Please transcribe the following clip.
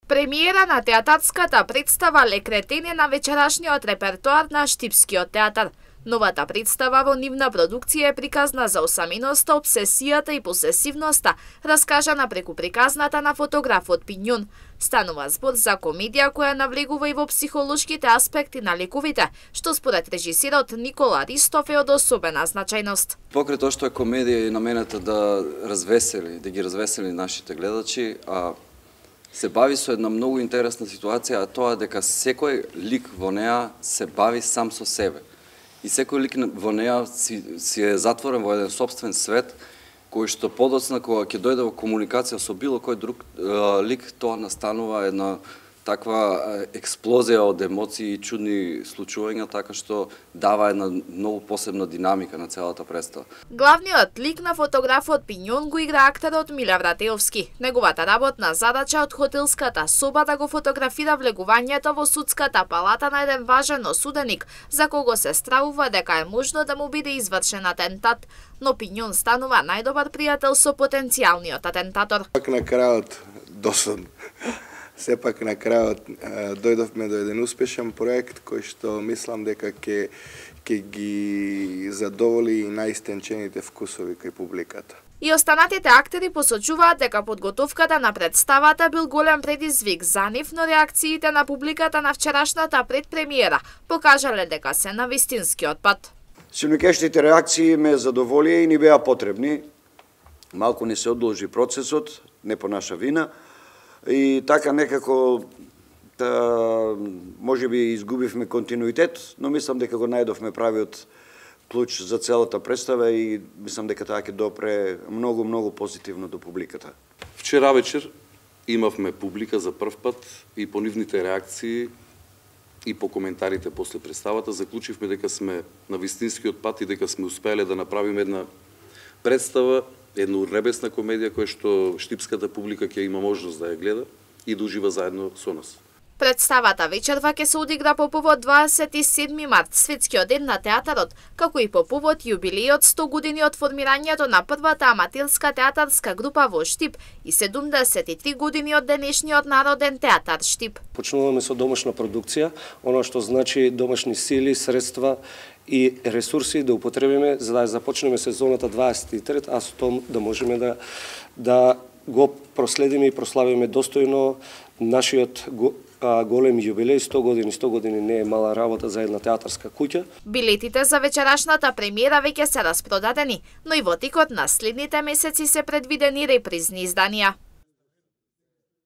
Премиера на театарската представа Лекретење на вечерашниот репертоар на Штипскиот театар. Новата представа во нивна продукција е приказна за осаменоста, обсесијата и посесивноста, раскажана преку приказната на фотографот Пинјун. Станува збор за комедија која навлегува и во психолошките аспекти на лековите, што според режисерот Никола Ристов е од особена значајност. Покрај тоа што е комедија и намената да ги развесели нашите гледачи, се бави со една многу интересна ситуација, а тоа дека секој лик во неа се бави сам со себе. И секој лик во неа си е затворен во еден собствен свет, кој што подоцна кога ќе дојде во комуникација со било кој друг лик, тоа настанува една таква експлозија од емоции и чудни случувања, така што дава една многу посебна динамика на целата представа. Главниот лик на фотографот Пинјун го игра актерот Миле Вратеовски. Неговата работна задача од хотелската соба да го фотографира влегувањето во судската палата на еден важен осуденик, за кого се стравува дека е можно да му биде извршен атентат. Но Пинјун станува најдобар пријател со потенцијалниот атентатор. На крајот досадно. Сепак на крајот дојдовме до еден успешен проект кој што мислам дека ќе ги задоволи најстенчените вкусови кај публиката. И останатите актери посочуваат дека подготовката на представата бил голем предизвик за нив, но реакциите на публиката на вчерашната предпремиера покажале дека се на вистинскиот пат. Силникештите реакции ме задоволија и ни беа потребни. Малку не се одложи процесот, не по наша вина. И така некако можеби изгубивме континуитет, но мислам дека го најдовме правиот клуч за целата представа и мислам дека таа ќе допре многу позитивно до публиката. Вчера вечер имавме публика за прв пат и по нивните реакции и по коментарите после представата заклучивме дека сме на вистинскиот пат и дека сме успеале да направиме една представа, една урнебесна комедија која што штипската публика ќе има можност да ја гледа и да ужива заедно со нас. Представата вечерва ќе се одигра по повод 27 март, светскиот ден на театарот, како и по повод јубилејот 100 години од формирањето на првата аматерска театарска група во Штип и 73 години од денешниот Народен театар Штип. Почнуваме со домашна продукција, она што значи домашни сили, средства и ресурси да употребиме за да започнеме сезоната 23, а со тоа да можеме да го проследиме и прославиме достојно нашиот голем јубилеј. 100 години не е мала работа за една театарска куќа. Билетите за вечерашната премиера веќе се распродадени, но и во текот на следните месеци се предвидени репризни изданија.